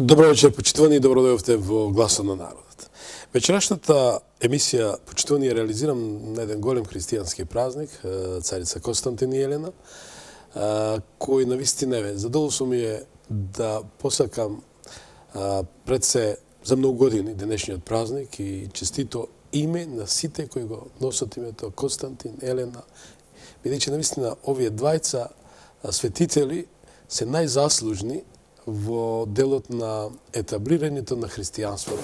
Добро вечер, почитувани, и добро дојдовте во Гласот на народот. Вечерашната емисија почитувани ја реализирам на еден голем христијански празник, царица Константин и Елена, кој навистина е задоволство ми е да посакам пред се за многу години денешниот празник и честито име на сите кои го носат името Константин, Елена, бидејќи навистина овие двајца светители се најзаслужни во делот на етаблирањето на христијанството.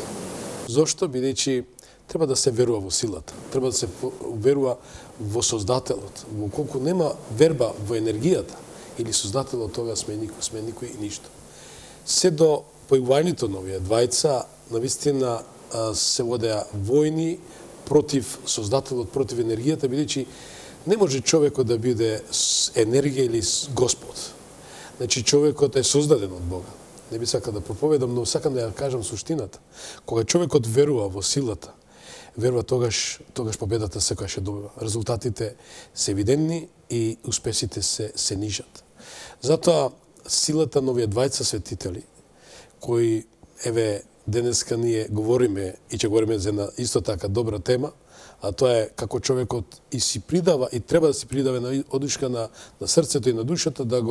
Зошто? Бидејќи треба да се верува во силата, треба да се верува во Создателот. Во колку нема верба во енергијата или Создателот, тога сме никој и ништо. Се до појавувањето на овие двајца, навистина се водеа војни против Создателот, против енергијата, бидејќи не може човекот да биде енергија или Господ. Значи, човекот е создаден од Бога. Не би сакал да проповедам, но сакам да ја кажам суштината. Кога човекот верува во силата, верува тогаш победата секогаш ќе добива. Резултатите се евидентни и успесите се нижат. Затоа силата на овие двајца светители, кои, еве, денеска ние говориме и ќе говориме за една исто така добра тема, а тоа е како човекот и си придава и треба да си придава на одушка на срцето и на душата да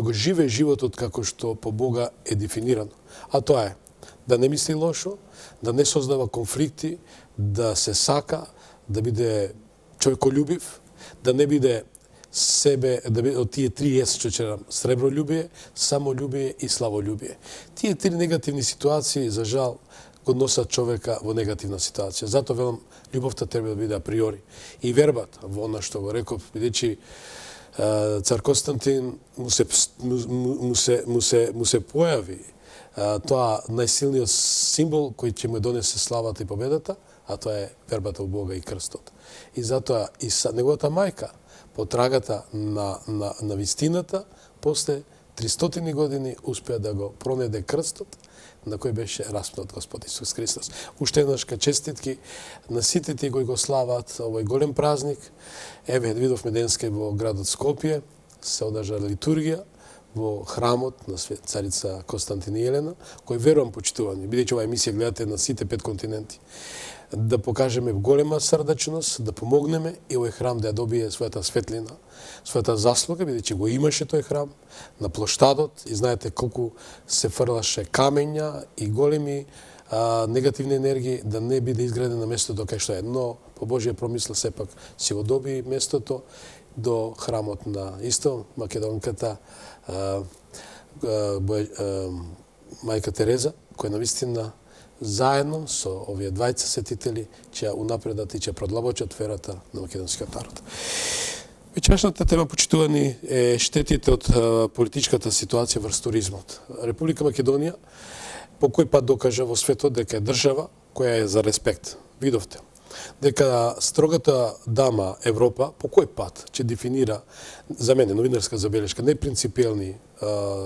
го живее животот како што по Бога е дефинирано. А тоа е да не мисли лошо, да не создава конфликти, да се сака, да биде човеколюбив, да не биде себе, да биде од тие три S што черам: сребролюбие, самолюбие и славолюбие. Тие три негативни ситуации, за жал, го носат човека во негативна ситуација. Затоа велам, љубовта треба да биде априори. И вербата во она што го реков, бидејќи цар Константин му се појави тоа најсилниот символ кој ќе му донесе славата и победата, а тоа е вербата во Бога и крстот. И затоа и неговата мајка, по трагата на вистината, после 300 години успеа да го пронеде крстот на кој беше распнат Господ Исус Христос. Уште еднаш честитки на сите тие кои го слават овој голем празник. Еве, видовме денеска во градот Скопје, се одржа литургија во храмот на царица Константин и Елена, кој верувам почитувани, бидејќи оваа емисија гледате на сите 5 континенти. Да покажеме голема срдачност, да помогнеме и овој храм да ја добие својата светлина, својата заслуга, бидејќи го имаше тој храм на плоштадот и знаете колку се фрлаше камења и големи негативни енергии, да не биде изграден на местото кај што е. Но по Божија промисла сепак си го доби местото до храмот на исто македонката мајка Тереза, која навистина заедно со овие двајца светители ќе унапредат и ќе продлабочат верата на македонскиот народ. Вечерашната тема, почитувани, е штетите од политичката ситуација врз туризмот. Република Македонија по кој пат докажа во светот дека е држава која е за респект. Видовте дека строгата дама Европа по кој пат ќе дефинира, за мене новинарска забелешка, непринципиелни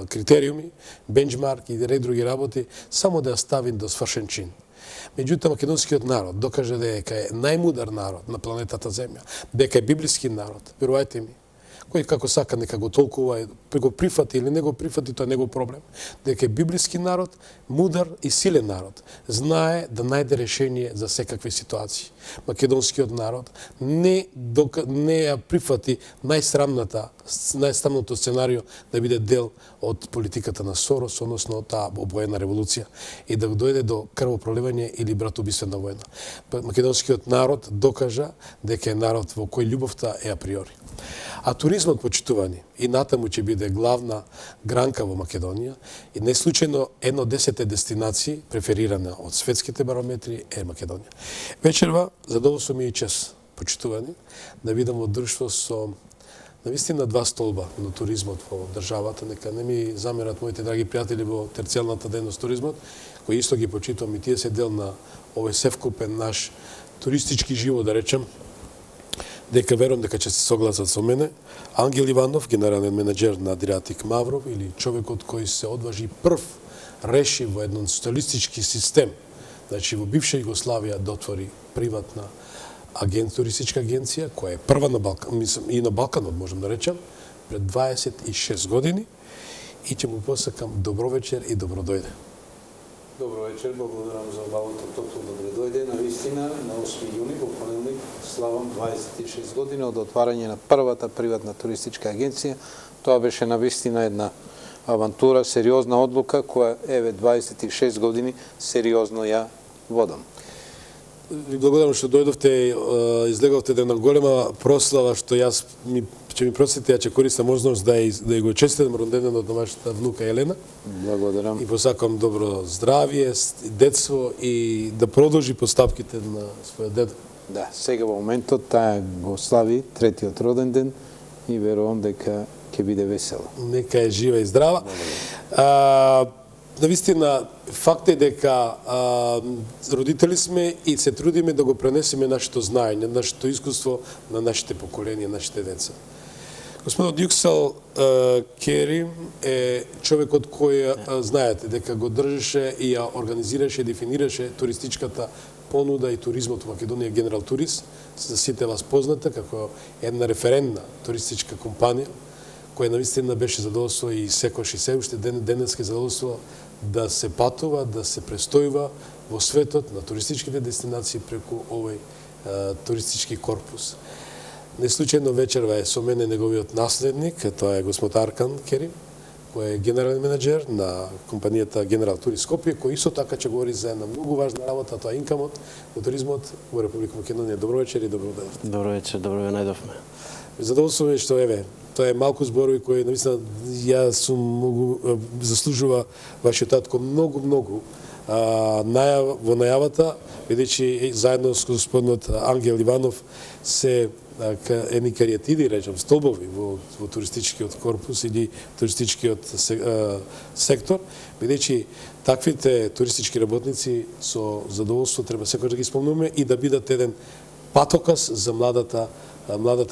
критериуми, бенчмарк и ред други работи, само да ја стави до свршен чин. Меѓутоа, македонскиот народ докаже дека е најмудар народ на планетата Земја, дека е библиски народ. Верувајте ми, кој како сака нека го толкува, го прифати или не го прифати, тоа е негов проблем. Дека е библиски народ, мудар и силен народ, знае да најде решение за секакви ситуации. Македонскиот народ не ја прифати најсрамното сценарио да биде дел од политиката на Сорос, односно таа обоена револуција и да дојде до крвопроливање или братоубиствена војна. Македонскиот народ докажа дека е народ во кој љубовта е априори. А туризмот, почитувани, и натаму ќе биде главна гранка во Македонија и не случајно една од 10 дестинации преферирана од светските барометри е Македонија. Вечерва задоволство ми и чест, почитувани, да видам во друштво со навистина 2 столба на туризмот во државата. Нека не ми замерат моите драги пријатели во терцијалната дејност туризмот, кои исто ги почитувам и тие се дел на овој севкупен наш туристички живот, да речем, дека верувам дека ќе се согласат со мене. Ангел Иванов, генерален менеджер на Адриатик Мавров, или човекот кој се одважи прв реши во еден социјалистички систем, значи во бивша Југославија, да отвори приватна туристичка агенција, која е прва на Балкан, мислам и на Балканот, можем да речем, пред 26 години, и ќе му посакам добро вечер и добро дојде. Добро вечер, благодарам за обавото топло добре дојде. На вистина, на 8 јуни, во понеделник, славам 26 години од отварање на првата приватна туристичка агенција. Тоа беше на вистина една авантура, сериозна одлука, која еве 26 години сериозно ја водам. Ви благодарам што дојдовте, излеговте една голема прослава, што јас ќе ми простите, ја ќе користам можност да ја го честитам роденденот на вашата внука Елена. Благодарам. И посакам добро здравје, детство и да продолжи постапките на својот дедо. Да, сега во моментот таа го слави третиот роденден и верувам дека ќе биде весела. Нека е жива и здрава. Навистина, факт е дека родители сме и се трудиме да го пренесеме нашето знаење, нашето искуство на нашите поколенија, нашите деца. Господинот Юксал Кери е човекот кој, знаете, дека го држеше и ја организираше, дефинираше туристичката понуда и туризмот во Македонија, Генерал Турист, за сите вас позната како една референтна туристичка компанија, која навистина беше задоволство и секојаш и се уште денеска задоволство да се патува, да се престојува во светот на туристичките дестинации преку овој туристички корпус. Неслучајно вечерва е со мене неговиот наследник, тоа е господ Аркан Кери, кој е генерален менеджер на компанијата Генерал Турист Скопје, кој исто така ќе говори за една многу важна работа, тоа е инкамот во туризмот во Република Македонија. Добро вечер и добро дојдовте. Добро вечер, добро ве најдовме. Задоволство е што еве, тоа е малку зборови кои навистина ја сум многу заслужува вашиот татко многу во најавата, бидејќи заедно со господинот Ангел Иванов се едни кариатиди, речам, столбови во туристичкиот корпус или туристичкиот сектор, бидејќи таквите туристички работници со задоволство треба секој да ги спомнуваме и да бидат еден патокас за младата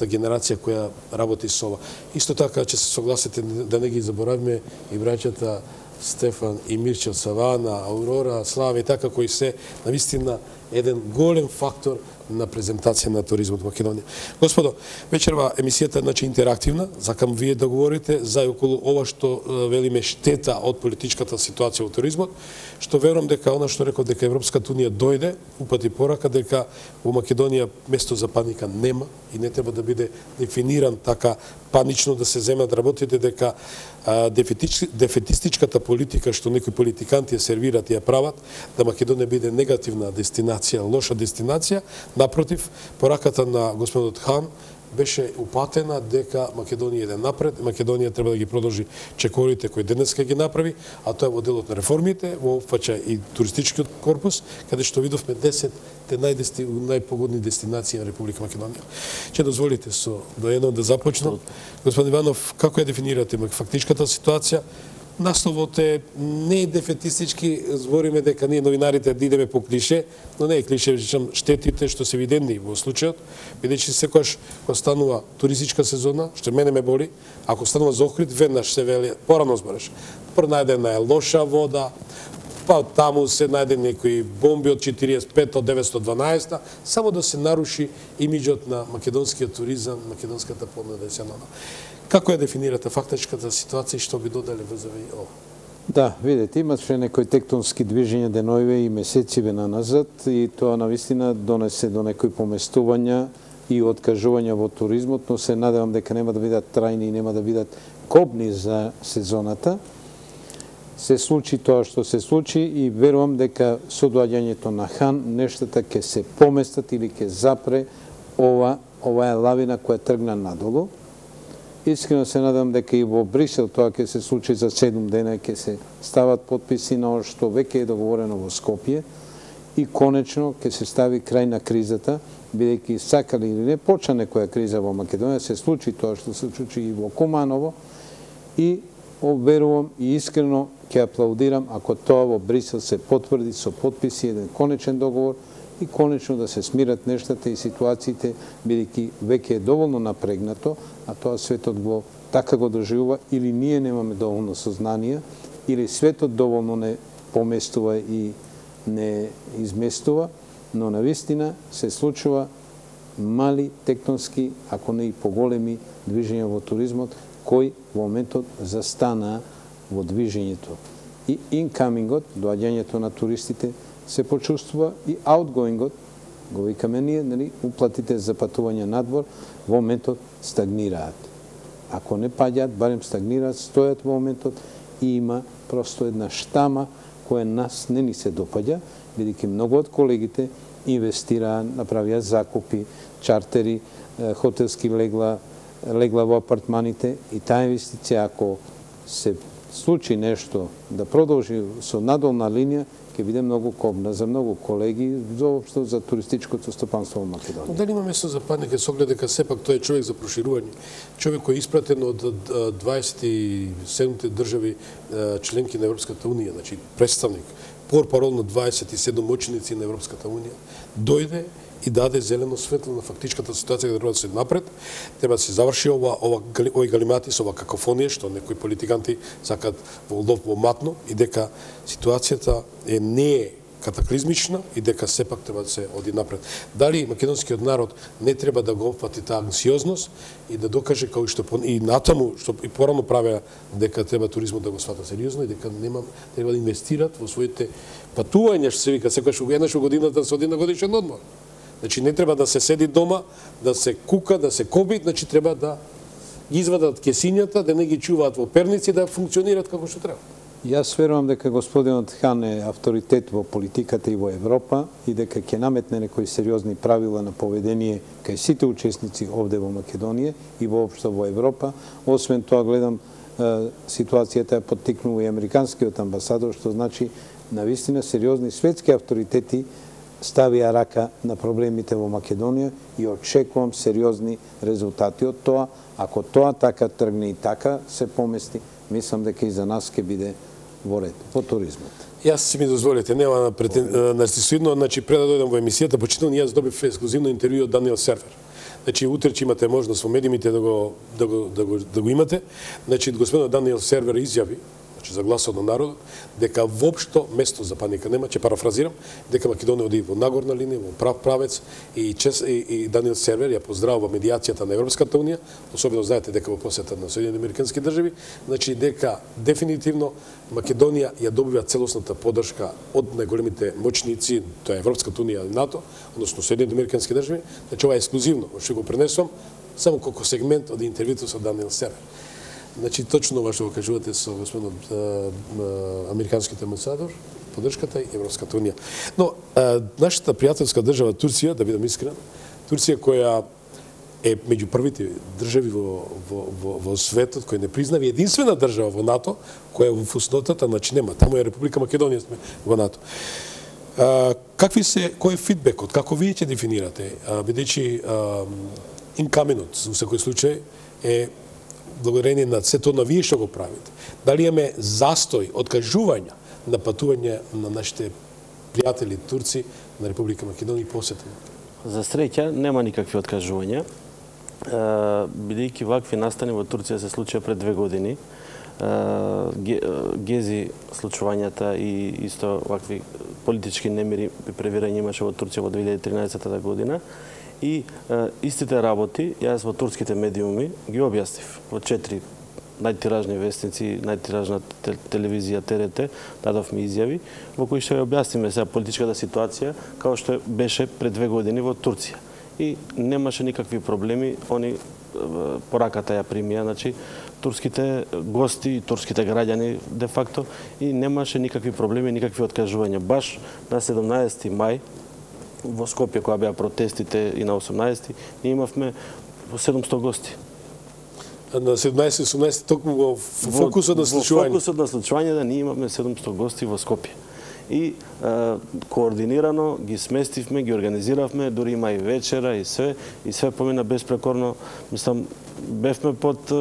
генерација која работи со ова. Исто така ќе се согласите да не ги заборавиме и браќата Стефан и Мирче Савана, Аурора, Слава и така, кои се навистина еден голем фактор на презентација на туризмот во Македонија. Господо, вечерва емисијата е интерактивна, сакам вие да говорите за околу ова што велиме штета од политичката ситуација во туризмот, што верувам дека она што реков дека Европската унија дојде, упати порака дека во Македонија место за паника нема и не треба да биде дефиниран така панично да се земат работите, дека дефетистичката политика што некои политиканти ја сервират и ја прават, да Македонија биде негативна дестинација, лоша дестинација. Напротив, пораката на господинот Хан беше упатена дека Македонија иде напред, Македонија треба да ги продолжи чекорите кои денеска ги направи, а тоа е во делот на реформите, во опфаќа и туристичкиот корпус, каде што видовме 10 најпогодни дестинации на Република Македонија. Ќе дозволите со до едно да започнам. Господин Иванов, како ја дефинирате фактичката ситуација? Насловот е не е дефетистички, збориме дека ние новинарите да идеме по клише, но не е клише, речам штетите што се видени во случајот, бидејќи секогаш кога станува туристичка сезона, што мене ме боли, ако станува за Охрид, веднаш се вели, порано збореш, најдена е лоша вода, па таму се најде некои бомби од 45 од 912, само да се наруши имиџот на македонскиот туризам, македонската понуда национална. Како ја дефинирате фактичката ситуација и што би додале врзави ова? Да, видите, имаше некои тектонски движења деноиве и месециве наназад и тоа навистина донесе до некои поместувања и откажувања во туризмот, но се надевам дека нема да бидат трајни и нема да бидат кобни за сезоната. Се случи тоа што се случи и верувам дека со доаѓањето на Хан нештата ќе се поместат или ќе запре оваа лавина која тргна надолу. Искрено се надам дека и во Брисел тоа ќе се случи за 7 дена, ќе се стават подписи на оно што веќе е договорено во Скопје и конечно ќе се стави крај на кризата, бидејќи сакали или не почна некоја криза во Македонија, се случи тоа што се случи и во Куманово и верувам и искрено ќе аплаудирам ако тоа во Брисел се потврди со подписи еден конечен договор и конечно да се смират нештата и ситуациите, бидејќи веќе е доволно напрегнато, а тоа светот го така го доживува или ние немаме доволно сознание, или светот доволно не поместува и не изместува, но навистина се случува мали тектонски, ако не и поголеми движења во туризмот, кои во моментот застанаа во движењето. и инкамингот, доаѓањето на туристите, се почувствува и аутгоингот, го викаме ние, нели, уплатите за патување надвор во моментот стагнираат. Ако не паѓаат, барем стагнираат, стојат во моментот и има просто една штама која нас не ни се допаѓа, бидејќи многу од колегите инвестираа, направија закупи, чартери, хотелски легла во апартманите и таа инвестиција, ако се случи нешто да продолжи со надолна линија, ќе биде многу кобна за многу колеги, заопшто за туристичкото стопанство во Македонија. Дали има место за патник, со оглед дека сепак тој е човек за проширување, човек кој е испратен од 27 држави членки на Европската унија, значи представник, портпарол на 27 ученици на Европската унија, дојде и даде зелено светло на фактичката ситуација да треба да се напред, треба да се заврши овој галиматис, ова какофонија што некои политиканти сакат во лов во матно и дека ситуацијата не е катаклизмична и дека сепак треба да се оди напред. Дали македонскиот народ не треба да го опфати таа анксиозност и да докаже како што и натаму што и порано правеа дека треба туризмот да го свата сериозно и дека треба да инвестират во своите патувања, што се вика секогаш еднаш во годината со один годишен одмор. Значи не треба да се седи дома, да се кука, да се коби, значи треба да ги извадат кесињата, да не ги чуваат во перници, да функционираат како што треба. Јас верувам дека господинот Хан е авторитет во политиката и во Европа и дека ќе наметне некои сериозни правила на поведение кај сите учесници овде во Македонија и воопшто во Европа. Освен тоа гледам ситуацијата ја поттикнува и американскиот амбасадор, што значи навистина сериозни светски авторитети ставија рака на проблемите во Македонија и очекувам сериозни резултати од тоа. Ако тоа така тргне и така се помести, мислам дека и за нас ќе биде во ред, по туризмот. Јас си ми дозволите, нема нарцисоидно, значи пред да дојдам во емисијата, почитувам, јас добив ексклузивно интервју од Даниел Сервер. Значи утре ќе имате можност во медиумите да го имате. Значи господинот Даниел Сервер изјави, значи за гласот на народот, дека воопшто место за паника нема, ќе парафразирам, дека Македонија оди во нагорна линија, во прав правец и Даниел Сервер ја поздравува медијацијата на Европската унија, особено знаете дека во посета на Соединените американски држави, значи дека дефинитивно Македонија ја добива целосната поддршка од најголемите моćници, тоа е Европската унија и НАТО, односно Соединените американски држави, значи ова е ексклузивно, што го пренесувам само како сегмент од интервјуто со Даниел Сервер. Значи, точно ова што го кажувате со господинот американскиот амбасадор, поддршката и Европската унија. Но, нашата пријателска држава Турција, да бидам искрен, Турција која е меѓу првите држави во светот, кој не признава единствена држава во НАТО, која е во фуснотата, значи нема, таму е Република Македонија сме во НАТО. Кој е фидбекот, како вие ќе дефинирате, бидејќи инкаминот, во секој случај, е благодарение на сето на вие што го правите. Дали имаме застој, откажување на патување на нашите пријатели турци на Република Македонија и посета? За среќа нема никакви откажувања, бидејќи вакви настани во Турција се случија пред 2 години. Гези случувањата и исто вакви политички немири и превирање имаше во Турција во 2013 година. И истите работи, јас во турските медиуми ги објаснив во 4 најтиражни вестници, најтиражна телевизија ТРТ, дадовме изјави, во кои што ја објасниме сега политичката ситуација, како што беше пред 2 години во Турција. И немаше никакви проблеми, они пораката ја примија, значи, турските гости и турските граѓани, де факто, и немаше никакви проблеми, никакви откажувања. Баш на 17 мај, во Скопје, која беа протестите и на 18-ти, ние имавме 700 гости. На 17-18 токму во фокусот на случување? Во фокусот на случување да ние имавме 700 гости во Скопје. И координирано ги сместивме, ги организиравме, дури има и вечера и све помина безпрекорно. Мислам, бевме под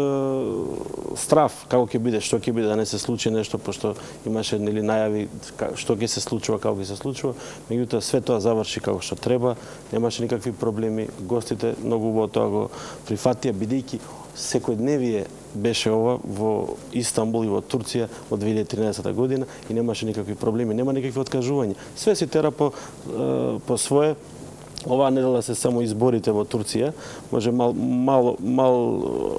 страв како ќе биде, што ќе биде, да не се случи нешто, пошто имаше нели најави што ќе се случува, како ќе се случува. Меѓутоа све тоа заврши како што треба, немаше никакви проблеми, гостите многу убаво тоа го прифатија, бидејќи секојдневие беше ова во Истанбул и во Турција од 2013 година и немаше никакви проблеми, нема никакви откажувања. Све се тера по свое, Оваа недела се само изборите во Турција, може мал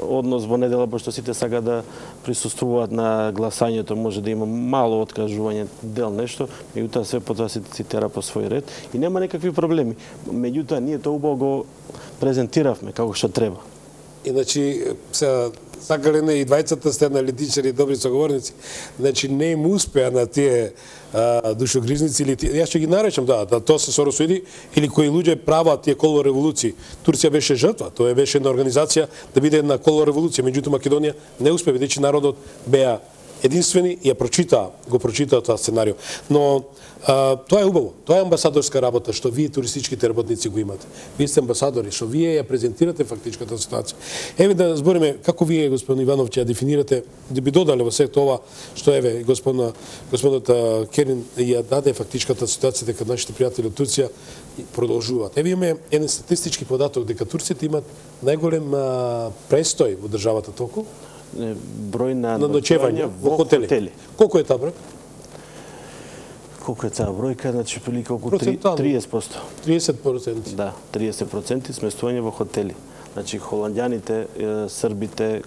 однос во недела, пошто сите сака да присуствуваат на гласањето, може да има мало откажување, дел нешто, меѓутоа све потоа се тера по свој ред и нема некакви проблеми. Меѓутоа ние тоа убаво го презентиравме како што треба. Иначе се сакале не и двајцата сте аналитичари и добри соговорници, значи не им успеа на тие душогрижници или јас ќе ги наречам тоа се соросуди или кои луѓе прават тие коло револуции. Турција беше жртва, тоа беше една организација да биде една коло револуција, меѓутоа Македонија не успеа, бидејќи народот беа единствени и го прочитаа тоа сценарио. Но тоа е убаво. Тоа е амбасадорска работа што вие туристичките работници го имате. Вие сте амбасадори, што вие ја презентирате фактичката ситуација. Еве да збориме како вие, господин Иванов, ќе ја дефинирате, да би додале во сето ова што еве господата Керин ја даде фактичката ситуација дека нашите пријатели од Турција продолжуваат. Еве имаме еден статистички податок дека турците имат најголем престој во државата толку број на ноќевање во хотели. Колку е таа број? Колку е таа бројка? Значи прилика околу 30%. 30%. Да, 30% сместување во хотели. Значи холандјаните, србите,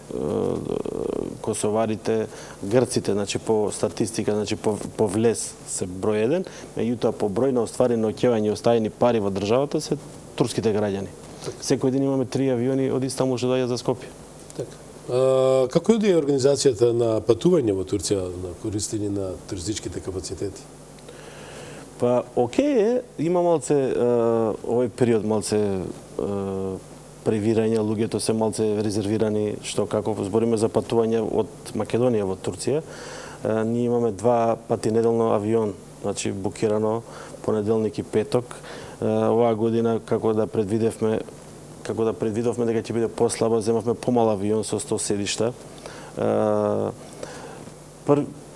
косоварите, грците, значи по статистика, значи по влез се број 1, меѓутоа по број на остварени ноќевања и оставени пари во државата се турските граѓани. Секој ден имаме 3 авиони од Истанбул што доаѓаат за Скопје. Така. Како е организацијата на патување во Турција на користење на туристичките капацитети? Па, окей е, има малце, овој период малце превирање, луѓето се малце резервирани, што како збориме за патување од Македонија во Турција. Ние имаме 2 пати неделно авион, значи букирано понеделник и петок. Оваа година, како да предвидовме дека ќе биде послаба, земавме помал авион со 100 седишта.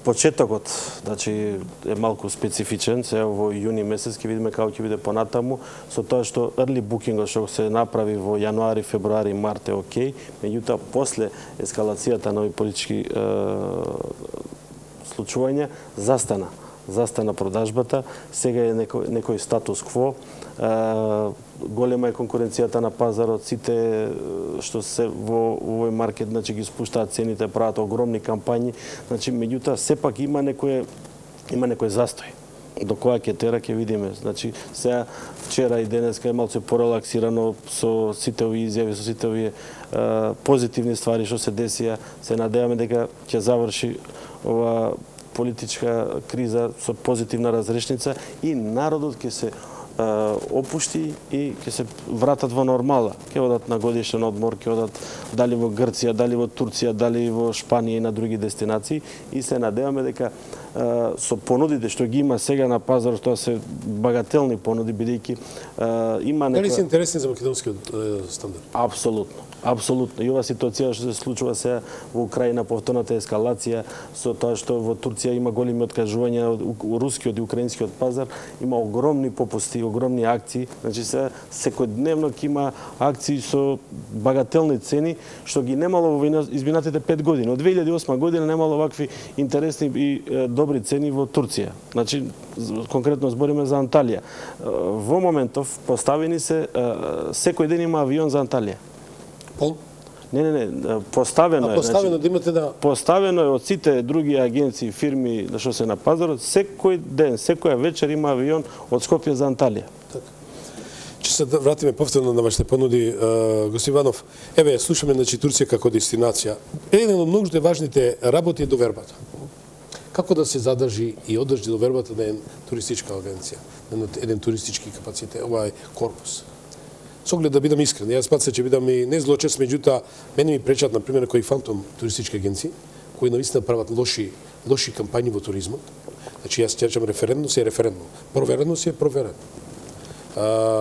Почетокот, значи, е малку специфичен, сега во јуни месец ќе видиме како ќе биде понатаму, со тоа што early booking што се направи во јануари, февруари, март е окей, меѓутоа после ескалацијата на овие политички случувања застана продажбата, сега е некој статус кво, голема е конкуренцијата на пазарот, сите што се во овој маркет, значи ги спуштаат цените, прават огромни кампањи, значи меѓутоа сепак има некој застој. До која ќе тера ќе видиме. Значи сега вчера и денеска е малку порелаксирано со сите овие изјави, со сите овие позитивни ствари што се десија, се надеваме дека ќе заврши ова политичка криза со позитивна разрешница и народот ќе се опушти и ќе се вратат во нормала. Ќе одат на годишен одмор, ќе одат дали во Грција, дали во Турција, дали во Шпанија и на други дестинации и се надеваме дека со понудите што ги има сега на пазарот, тоа се багателни понуди, бидејќи има некоја... Дали се интересни за македонскиот стандард? Апсолутно. И ова ситуација што се случува сега во Украина, повторната ескалација, со тоа што во Турција има големи откажувања од рускиот и украинскиот пазар, има огромни попусти, огромни акции, значи сега секојдневно ќе има акции со багателни цени, што ги немало во изминатите 5 години. Од 2008 година немало вакви интересни и добри цени во Турција. Значи, конкретно збориме за Анталија. Во моментов поставени се, секој ден има авион за Анталија. Пол? Не, поставено е. Поставено да имате да... Поставено е од сите други агенции, фирми што се на пазарот, секој ден, секоја вечер има авион од Скопје за Анталија. Така. Ќе се вратиме повторно на вашите понуди, господин Иванов. Еве, слушаме на Турција како дестинација. Еден од многу важните работи е довербата. Како да се задржи и одржи довербата на една туристичка агенција, на еден туристички капацитет, ова е корпус. Со оглед да бидам искрен, јас пат се ќе бидам и не злочест, меѓутоа мене ми пречат на пример кои фантом туристички агенции, кои навистина прават лоши кампањи во туризмот. Значи јас ќе речам референдност е референдум, провереност е проверено.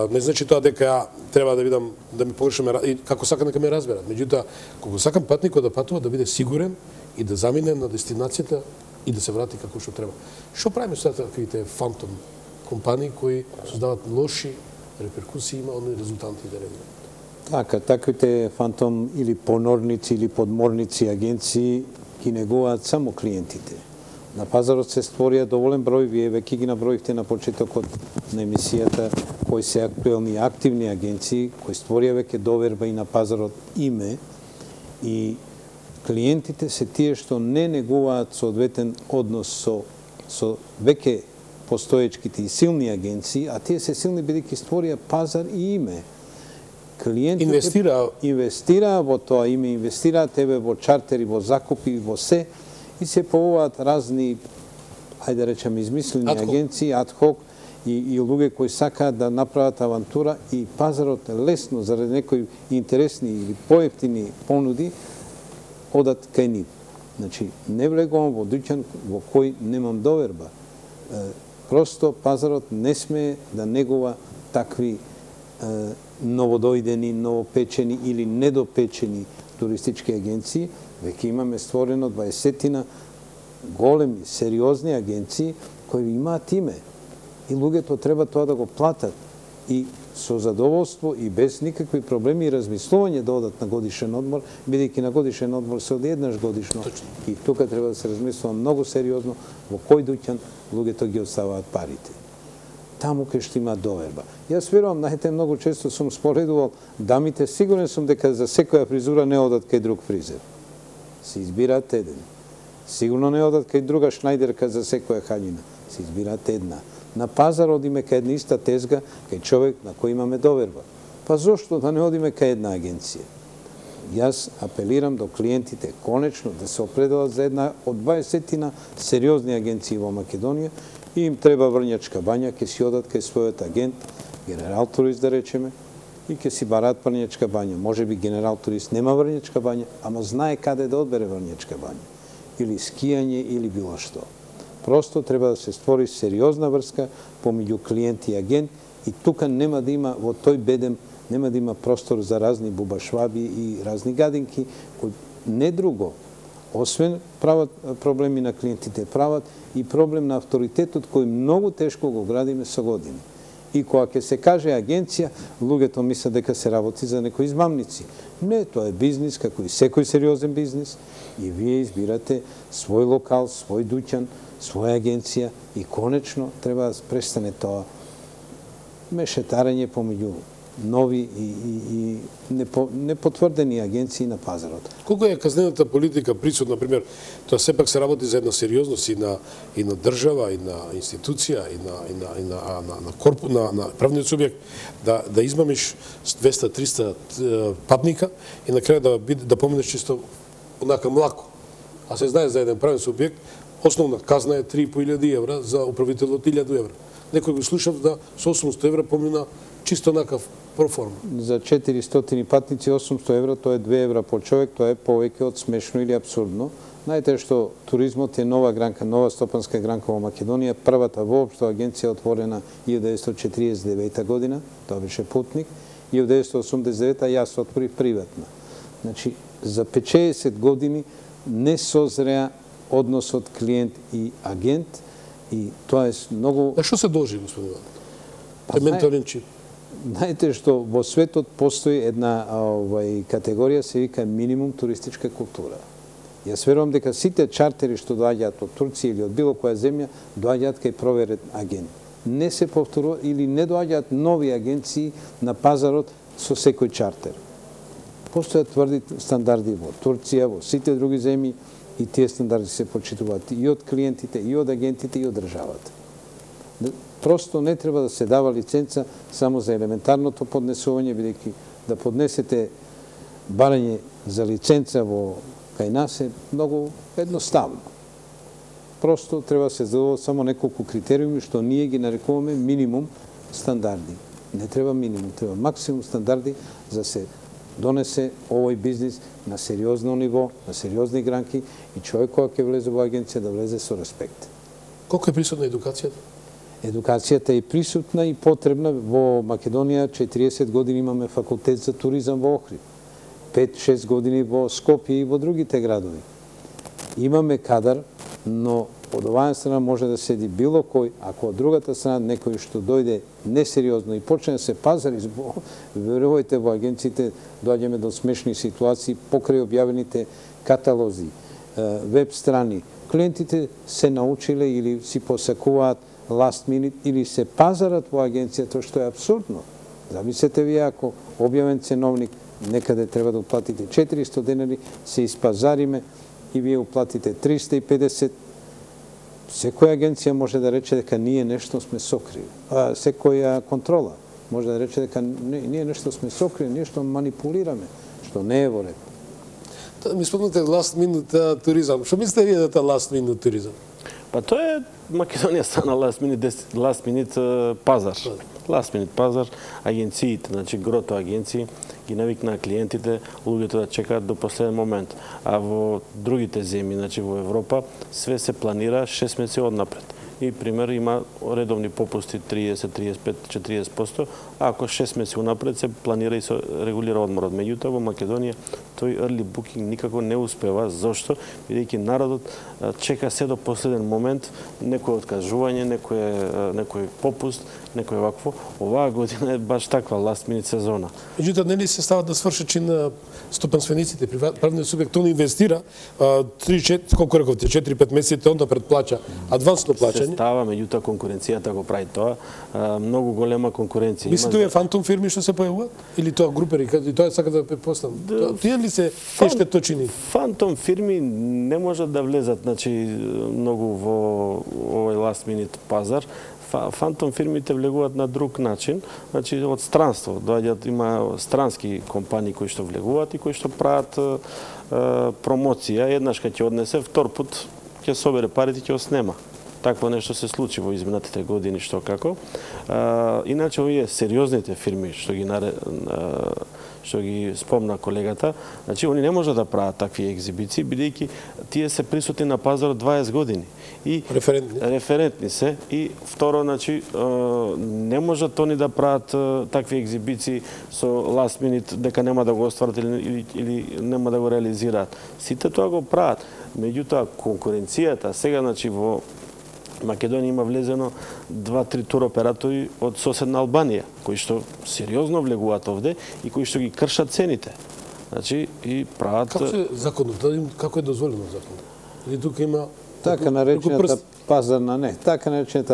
Не значи тоа дека треба да видам да ми погрешаме и како сакам дека ме разберат. Меѓутоа, кога сакам патникот да патува да биде сигурен и да замине на дестинацијата и да се врати како што треба. Што правиме со таквите фантом компании кои создаваат лоши реперкусии, има оние резултанти да реагираат? Така, таквите фантом или понорници или подморници агенции ги негуваат само клиентите. На пазарот се створија доволен број, вие веќе ги наброивте на почетокот на емисијата, кои се актуелни активни агенции, кои створија веќе доверба и на пазарот име, и клиентите се тие што не негуваат соодветен однос со веќе постоечките и силни агенции, а тие се силни бидејќи створија пазар и име. Клиентите инвестираа во тоа име, инвестираа тебе во чартери, во закупи, во се, и се појавуваат разни, ајде да речем, измислени агенции, адхок, и луѓе кои сакаат да направат авантура, и пазарот лесно, заради некои интересни или поевтини понуди, одат кај нив. Значи, не влегувам во дуќан во кој немам доверба. Просто пазарот не смее да негува такви новодојдени, новопечени или недопечени туристички агенции. Веќе имаме створено 20-тина големи, сериозни агенции кои имаат име. И луѓето треба тоа да го платат. И со задоволство и без никакви проблеми и размислување да одат на годишен одмор, бидејќи на годишен одмор се оди еднаш годишно. И тука треба да се размислува многу сериозно во кој дуќан луѓето ги оставаат парите. Таму кај што има доверба. Јас верувам, знаете, многу често сум споредувал, дамите, сигурен сум дека за секоја фризура не одат кај друг фризер. Се избираат еден. Сигурно не одат кај друга шнајдерка за секоја хаљина. Се избираат една. На пазар одиме кај една иста тезга, кај човек на кој имаме доверба. Па зошто да не одиме кај една агенција? Јас апелирам до клиентите конечно да се определат за една од 20-тина сериозни агенции во Македонија, и им треба Врњачка бања, ќе си одат кај својот агент, Генерал Турист да речеме, и ќе си барат Врњачка бања. Може би Генерал Турист нема Врњачка бања, ама знае каде да одбере Врњачка бања. Или скијање, или било што. Просто треба да се створи сериозна врска помеѓу клиент и агент, и тука нема да има, во тој бедем, нема да има простор за разни бубашваби и разни гадинки, кои не друго, освен прават проблеми на клиентите, прават и проблем на авторитетот кој многу тешко го градиме со години. И кога ќе се каже агенција, луѓето мислат дека се работи за некои измамници. Не, тоа е бизнис, како и секој сериозен бизнис, и вие избирате свој локал, свој дуќан, своја агенција, и конечно треба да престане тоа мешетарење помеѓу нови и непотврдени агенции на пазарот. Колку е казнената политика присутна, например, тоа сепак се работи за една сериозност и на држава, и на институција, и на правниот субјект, да измамиш 200-300 патника и на крај да поминеш чисто онака млако. А се знае за еден правен субјект, основна казна е 3.500 евра, за управителот 1000 евра. Некој го слушав да со 800 евра помина чисто накав проформа. За 400 патници 800 евра, тоа е 2 евра по човек, тоа е повеќе од смешно или абсурдно. Знаете што туризмот е нова гранка, нова стопанска гранка во Македонија, првата воопшто агенција отворена 1949 година, тоа беше Путник, и 1989 јас отворив приватна. Значи, за 50 години не созреа односот клиент и агент, и тоа е многу... А што се должи, господин Иван? Е ментален чип. Знаете што во светот постои една категорија, се вика минимум туристичка култура. Јас верувам дека сите чартери што доаѓаат од Турција или од било која земја, доаѓаат кај проверен агент. Не се повторува или не доаѓаат нови агенции на пазарот со секој чартер. Постојат тврди стандарди во Турција, во сите други земји, и тие стандарди се почитуваат и од клиентите, и од агентите, и од државата. Просто не треба да се дава лиценца само за елементарното поднесување, бидејќи да поднесете барање за лиценца во кај нас е многу едноставно. Просто треба да се задоволат само неколку критериуми што ние ги нарекуваме минимум стандарди. Не треба минимум, треба максимум стандарди за се донесе овој бизнис на сериозно ниво, на сериозни гранки, и човек кој ќе влезе во агенција да влезе со респект. Колку е присутна едукацијата? Едукацијата е присутна и потребна. Во Македонија 40 години имаме факултет за туризам во Охрид, 5-6 години во Скопје и во другите градови. Имаме кадар, но од оваа страна може да седи било кој, ако од другата страна некој што дојде несериозно и почне да се пазари, верувајте, во агенциите доаѓаме до смешни ситуации покрај објавените каталози, веб страни, клиентите се научиле или си посакуваат last minute или се пазарат во агенцијата, што е абсурдно. Замислете ви, ако објавен ценовник некаде треба да уплатите 400 денари, се испазариме и вие уплатите 350, секоја агенција може да рече дека ние нешто сме сокрили. Секоја контрола може да рече дека ние нешто сме сокрили, нешто манипулираме, што не е во ред. Ми спомнате last minute туризам. Што мислите вие за last minute туризам? Па тоа е Македонија стана last minute пазар. Last minute пазар, агенциите, значи грото агенции ги навикнаа клиентите, луѓето да чекаат до последен момент. А во другите земји, значи во Европа, све се планира 6 месеци однапред. И пример има редовни попусти 30, 35, 40%, а ако 6 месеци унапред се планира и се регулира одморот. Меѓутоа во Македонија тој early booking никако не успева. Зошто? Бидејќи народот чека се до последен момент, некој откажување, некој попуст, некој вакво. Оваа година е баш таква last minute сезона. Меѓутоа, нели се стават да свршат чин стопанствениците, правниот субјект, он инвестира 3-4, колку рековте, 4-5 месеци, онда предплаќа адвансно плаќање. Се става, меѓутоа конкуренцијата го прави тоа, многу голема конкуренција. Мислите овие фантом фирми што се појавуваат? Или тоа групери, и тоа сака да препоставам? Тие ли се штеточини? Фантом фирми не можат да влезат, значи, многу во овој last minute пазар. Фантом фирмите влегуваат на друг начин, значи од странство. Доаѓаат, има странски компании кои што влегуваат и кои што прават промоција. Еднаш кога ќе однесе, втор пат ќе собере парите и ќе снема. Такво нешто се случи во изминатите години, што како. Иначе овие сериозните фирми што ги спомна колегата, значи они не можат да прават такви екзибиции, бидејќи тие се присутни на пазарот 20 години. И референтни се. И второ, значи, не можат они да прават такви екзибиции со last minute, дека нема да го остварат или нема да го реализираат. Сите тоа го прават. Меѓутоа, конкуренцијата сега, значи, во Македонија има влезено 2-3 туроператори од соседна Албанија, кои што сериозно влегуваат овде и кои што ги кршат цените. Значи, и прават... Како се законот? Како е дозволено законот? Или тука има... Така наречената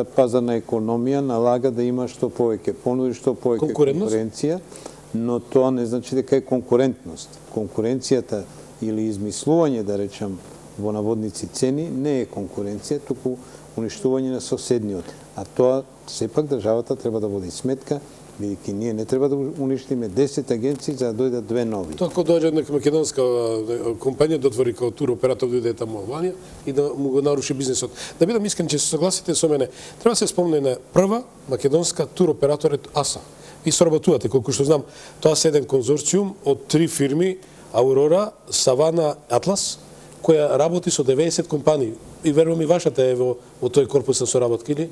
пазарна економија налага да има што повеќе понуди, што повеќе конкуренција, но тоа не значи дека е конкурентност. Конкуренцијата или измислување, да речам, во наводници цени, не е конкуренција, туку уништување на соседниот. А тоа, сепак, државата треба да води сметка, бидејќи ние не треба да уништиме 10 агенции за да дојдат 2 нови. Тоа кога дојде нека македонска компанија да отвори као туроператор дојде таму Албанија и да му го наруши бизнисот. Да бидам искрен, че се согласите со мене, треба да се спомне на прва македонска туроператорот АСА. И соработувате, колку што знам, тоа се еден конзорциум од 3 фирми, Аурора, Савана, Атлас, која работи со 90 компании. И верувам и вашата е во тој корпус на соработки, или?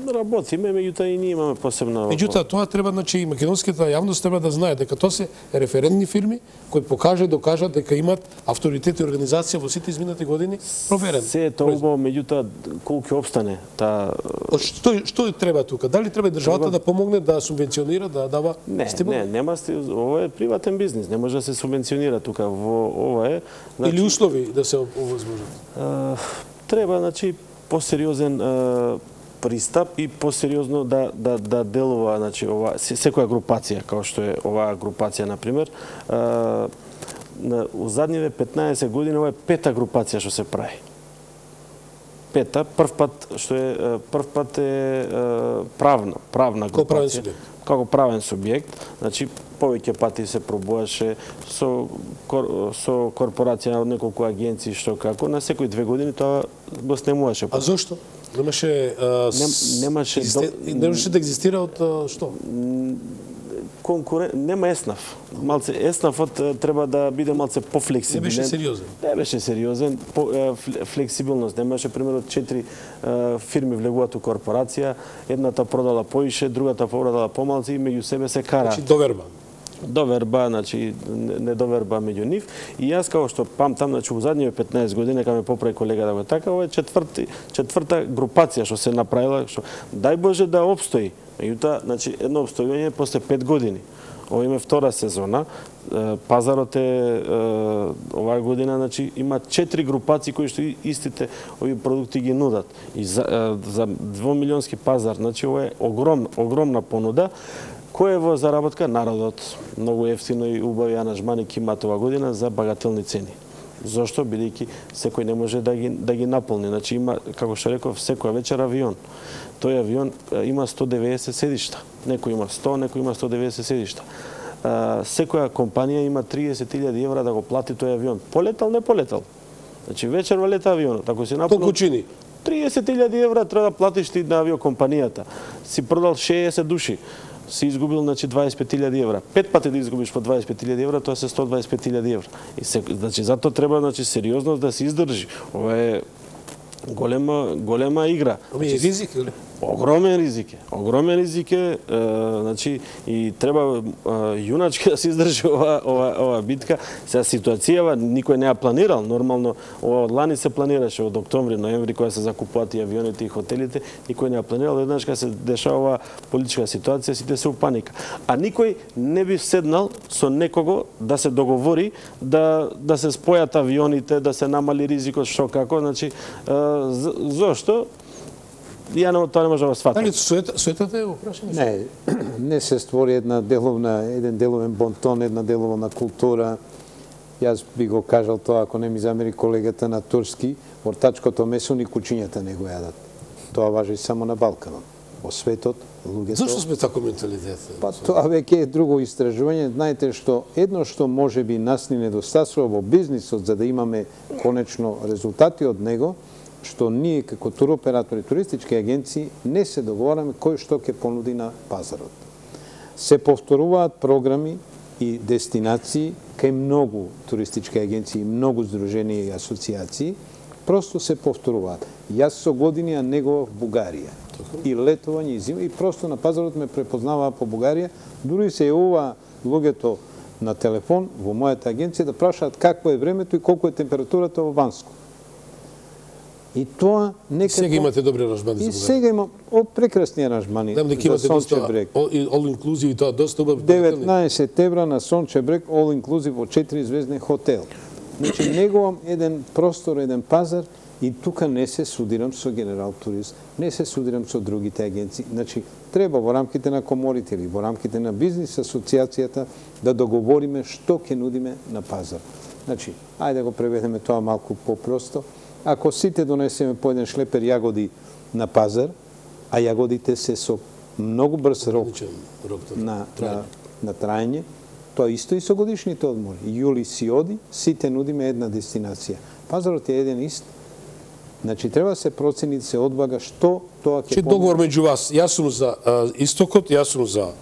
Работиме, меѓутоа и ние имаме посебно... Меѓутоа, тоа треба, значи, и македонската јавност треба да знае дека тоа се референтни фирми кои докажат дека имаат авторитет и организација во сите изминати години проверен. Се е тоа убаво, меѓутоа, колку ќе опстане таа... Што треба тука? Дали треба државата да помогне, да субвенционира, да дава стимул? Не, нема стимул. Ова е приватен бизнис, не може да се субвенционира тука. Ова е... Или услови да се овозможат? Треба, значи, посериозен пристап и посериозно да делува, значи, секоја групација, како што е оваа групација, например, у задниве 15 години ова е 5-та групација што се прави. 5-та, прв пат е правна групација. Како правен субјект, значи повеќе пати се пробуваше со корпорација од неколку агенции, што како, на секои 2 години тоа го снемуваше. А зошто? Немаше да екзистира од што? Нема еснаф. Малце еснафот треба да биде малце пофлексибилен. Не беше сериозен. Не беше сериозен, флексибилност. Немаше примерно 4 фирми влегуваат у корпорација, едната продала поише, другата продала помалце и меѓу себе се кара. Значи доверба, значи недоверба меѓу нив. И јас како што памтам, значи во задниве 15 години, кога ме поправи колега да го така, ова е четврта групација што се направила, што дај Боже да опстои. Меѓутоа, значи едно опстојување после 5 години. Ова има втора сезона. Пазарот е оваа година, значи има 4 групации кои што истите овие продукти ги нудат. И за 2 милионски пазар, значи ова е огромна понуда. Кој е во заработка? Народот. Многу ефтино и убави аранжмани ќе имаат оваа година за багателни цени. Зошто? Бидејќи секој не може да ги наполни. Значи има, како што реков, секоја вечер авион. Тој авион има 190 седишта. Некој има 100, некој има 190 седишта. Секоја компанија има 30.000 евра да го плати тој авион. Полетал, не полетал. Значи вечерва лета авионот. Ако си наполнил... Толку чини? 30.000 евра треба да платиш ти на авиокомпанијата. Си продал 60 души. Си изгубил, значи, 25.000 евра. 5 пати да изгубиш по 25.000 евра, тоа се 125.000 евра. И значи, затоа треба, значи, сериозност да се издржи. Ова е голема игра. Ами е ризик, или? Огромен ризик е, значи, и треба јуначки да се издржи ова битка. Сега ситуацијава никој не ја планирал, нормално ова од лани се планираше од октомври, ноември кога се закупуваат и авионите и хотелите, никој не ја планирал, еднаш кога се дешава ова политичка ситуација, сите се у паника. А никој не би седнал со некого да се договори да се спојат авионите, да се намали ризикот, што како, значи зошто? Тоа не може да го сватам. Дали суетата е во прашање? Не се створи еден деловен бонтон, една деловна култура. Јас би го кажал тоа, ако не ми замери колегата на турски, ортачкото месо ни кучињата не го јадат. Тоа важи само на Балканот. Во светот, луѓето... Зошто сме тако менталитет? Па тоа веќе е друго истражување. Знаете едно што може би нас ни недостасува во бизнисот за да имаме конечно резултати од него, што ние како туроператори, туристички агенции не се договораме кој што ќе понуди на пазарот. Се повторуваат програми и дестинации кај многу туристички агенции, многу здруженија и асоциации, просто се повторуваат. Јас со години ја негував Бугарија. И летување и зима, и просто на пазарот ме препознаваа по Бугарија, дури се јавува луѓето на телефон во мојата агенција да прашаат какво е времето и колку е температурата во Банско. И тоа некако... Сега имате добри аранжмани за Бугарија. И сега имам прекрасни аранжмани за Сонче брег. All inclusive и тоа доста убав. 19 евра на Сонче брег, all inclusive во 4-звезден хотел. Значи, негувам еден простор, еден пазар и тука не се судирам со Генерал Турист, не се судирам со другите агенции. Значи, треба во рамките на коморите или во рамките на бизнис асоциацијата да договориме што ќе нудиме на пазар. Значи, ајде да го преведеме тоа малку попросто. Ако сите донесеме по еден шлепер јагоди на пазар, а јагодите се со многу брз рок на трајање, тоа исто и со годишните одмори. Јули си оди, сите нудиме една дестинација. Пазарот е еден ист. Значи, треба се процени, се одбага што тоа ќе помогне. Договор меѓу вас, јас сум за истокот, јас сум за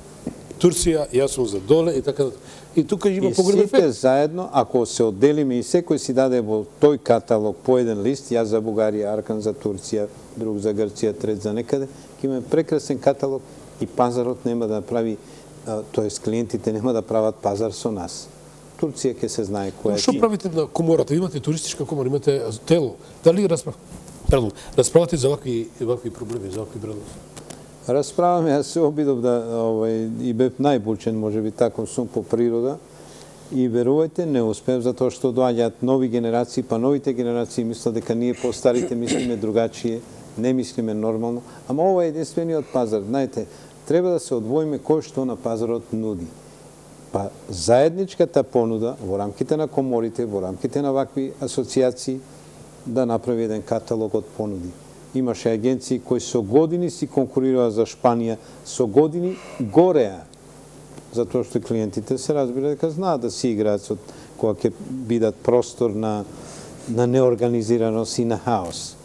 Турција, јас сум за доле и така. И тука има погребен ефект. И сите заедно, ако се одделиме и секој си даде во тој каталог по еден лист, јас за Бугарија, Аркан за Турција, друг за Грција, трет за некаде, ќе имаме прекрасен каталог и пазарот нема да прави, тоест клиентите нема да прават пазар со нас. Турција ќе се знае која е. Што правите на комората? Имате туристичка комора, имате тело. Дали расправате за вакви проблеми, за вакви бредности? Расправаме, јас се обидов и бев најбучен, може би таков сум по природа. И верувајте, не успев, затоа што доаѓаат нови генерации, па новите генерации мислат дека ние по-старите мислиме другачие, не мислиме нормално. Ама ова е единствениот пазар. Знаете, треба да се одвоиме кој што на пазарот нуди. Па заедничката понуда во рамките на коморите, во рамките на вакви асоциации, да направи еден каталог од понуди. Имаше агенции кои со години си конкурираа за Шпанија, со години гореа. Затоа што клиентите се разбира дека знаат да си играат со кога ќе бидат простор на неорганизираност и на хаос.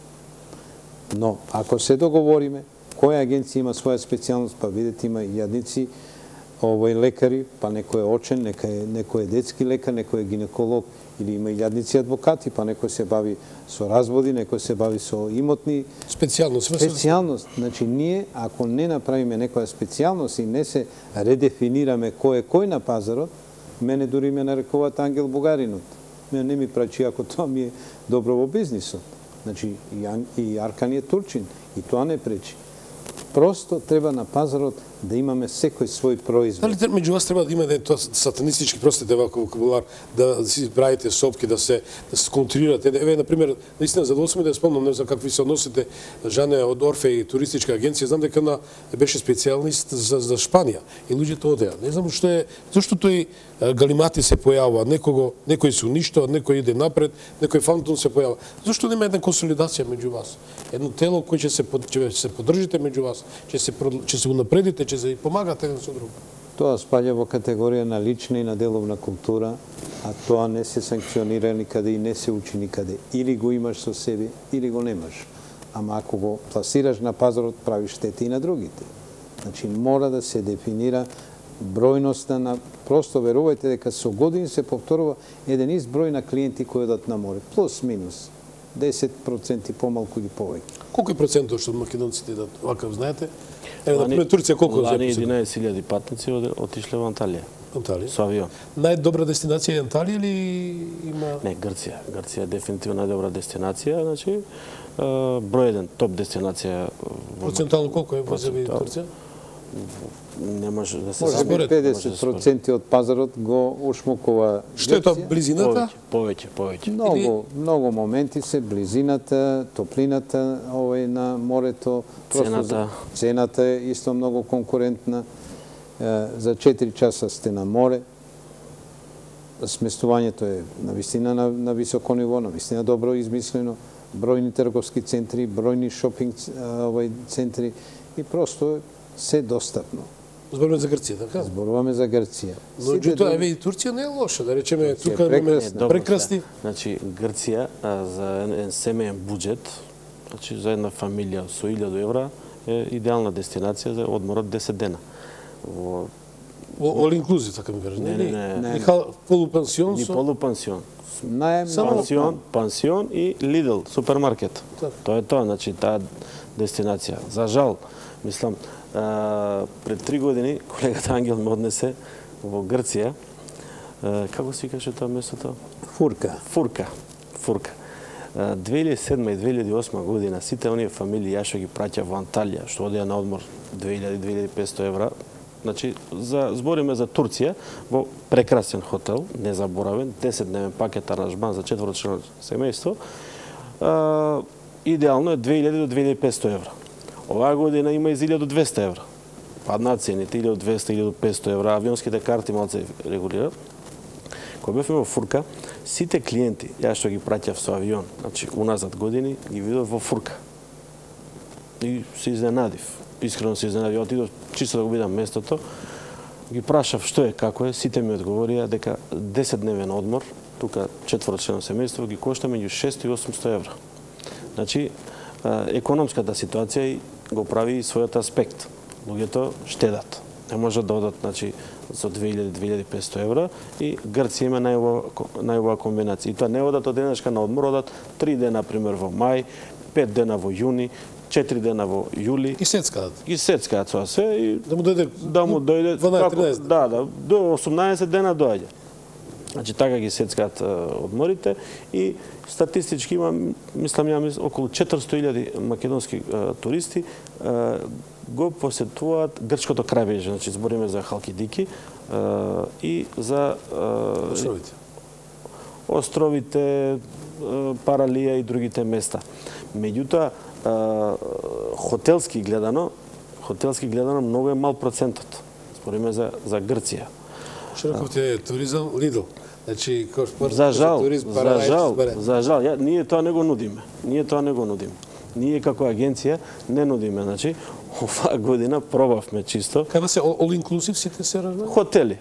Но, ако се договориме, која агенција има своја специјалност, па видите има и јадници, лекари, па некој е очен, некој е детски лекар, некој е гинеколог, или има и јадници адвокати, па некој се бави со разводи, некој се бави со имотни... Специјалност. Значи, ние, ако не направиме некоја специјалност и не се редефинираме кој е кој на пазарот, мене дури ме нарекуваат ангел бугаринот. Мене не ми прачи ако тоа ми е добро во бизнисот. Значи, и Аркан е турчин, и тоа не пречи. Просто треба на пазарот да имаме секој свој производ. Дали меѓу вас треба да има тоа сатанистички, простите вако вокабулар, да си правите сопки, да се контрирате. Еве на пример, наистина задоволство ми да спомнам, не знам какви се односите, Жане од Орфеј туристичка агенција, знам дека беше специјалист за Шпанија и луѓето одеа. Не знам зашто тој галимати се појавува, некој се уништува, некој иде напред, некој фантом се појавува. Зашто нема една консолидација меѓу вас? Едно тело кој ќе се поддржите меѓу вас, ќе се унапредите, ќе се помагате еден со друг. Тоа спаѓа во категорија на лична и на деловна култура, а тоа не се санкционира никаде и не се учи никаде. Или го имаш со себе, или го немаш. Ама ако го пласираш на пазарот, правиш штети и на другите. Значи, мора да се дефинира бројноста на... Просто верувајте дека со години се повторува еден ист број на клиенти кои одат на море. Плюс, минус. 10% помалку или повеќе. Колку е процентот што македонците идат вакав, знаете? Еве, например, Турција колку е? Лани 11.000 патници отишле во Анталија. Анталија? Со авион. Најдобра дестинација е Анталија или има... Не, Грција. Грција е дефинитивно најдобра дестинација, значи број еден, топ дестинација. Процентално колку е во Турција? Не може да се Може би 50% од пазарот го ушмукува Грција. Што е тоа, близината? Повеќе. Многу моменти се близината, топлината на морето, цената е исто многу конкурентна. За 4 часа сте на море. Сместувањето е навистина на високо ниво, навистина добро измислено. Бројни трговски центри, бројни шопинг центри и просто се достапно. Зборуваме за Грција, така? Зборуваме за Грција. Но тоа еве и Турција не е лоша, да речеме, тука имаме прекрасни. Значи Грција за еден семеен буџет, значи за една фамилија со 1000 евра е идеална дестинација за одморот 10 дена. Во all inclusive, така ми кажеш. Не. Полупансион со полупансион. Најм Пансион и Lidl супермаркет. Тоа е тоа, значи таа дестинација. За жал, мислам, пред 3 години колегата Ангел ме однесе во Грција. Како се викаше тоа местото? Фурка. 2007 и 2008 година сите оние фамилии ја што ги праќа во Анталија, што одеа на одмор 2000-2500 евра, значи збориме за Турција во прекрасен хотел, незаборавен, 10-дневен пакет аранжман за 4-члено семејство, идеално е 2000 до 2500 евра. Оваа година има и 1200 евра. Паднаа цените, 1200-1500 евра, авионските карти малце регулираат. Кога бевме во Фурка, сите клиенти, ја што ги праќав со авион, значи уназад години, ги видов во Фурка. И се изненадив. Искрено се изненадив. Отидов чисто да го видам местото. Ги прашав што е, како е, сите ми одговорија дека 10-дневен одмор, тука 4-члено семејство, ги кошта меѓу 600 и 800 евра. Значи, економската ситуација го прави и својот аспект. Луѓето штедат. Не можат да одат, значи, со 2000-2500 евра и Грција има најубава комбинација. И тоа не одат од денешка на одмор, одат 3 дена, например, во мај, 5 дена во јуни, 4 дена во јули. И сецкаат. И сецкаат тоа се и да му дојде 12-13. Да, до 18 дена доаѓа. Значи така ги сецкаат одморите и статистички има, мислам, околу 400.000 македонски туристи го посетуваат грчкото крајбрежје, значи збориме за Халкидики и за островите, Паралија и другите места. Меѓутоа, хотелски гледано многу е мал процентот. Збориме за Грција. Широков е туризам, Lidl. Значи, за жал, ние тоа не го нудиме. Ние како агенција не нудиме, значи, оваа година пробавме чисто. Кај се all inclusive сите се ражна? Хотели.